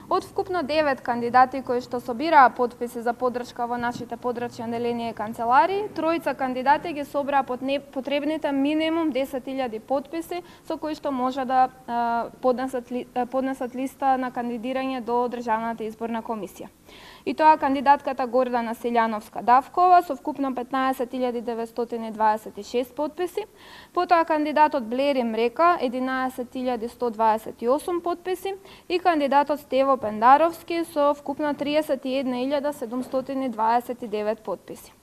Од вкупно 9 кандидати кои што собираа потписи за поддршка во нашите подрачни одделенија и канцеларии, тројца кандидати ги собраа потребните минимум 10.000 потписи со кои што може да поднесат листа на кандидирање до Државната изборна комисија. И тоа кандидатката Гордана Силјановска-Давкова со вкупно 15.926 потписи, потоа кандидатот Блери Мрека 11.128 потписи и кандидатот Стево Пендаровски со вкупно 31.729 потписи.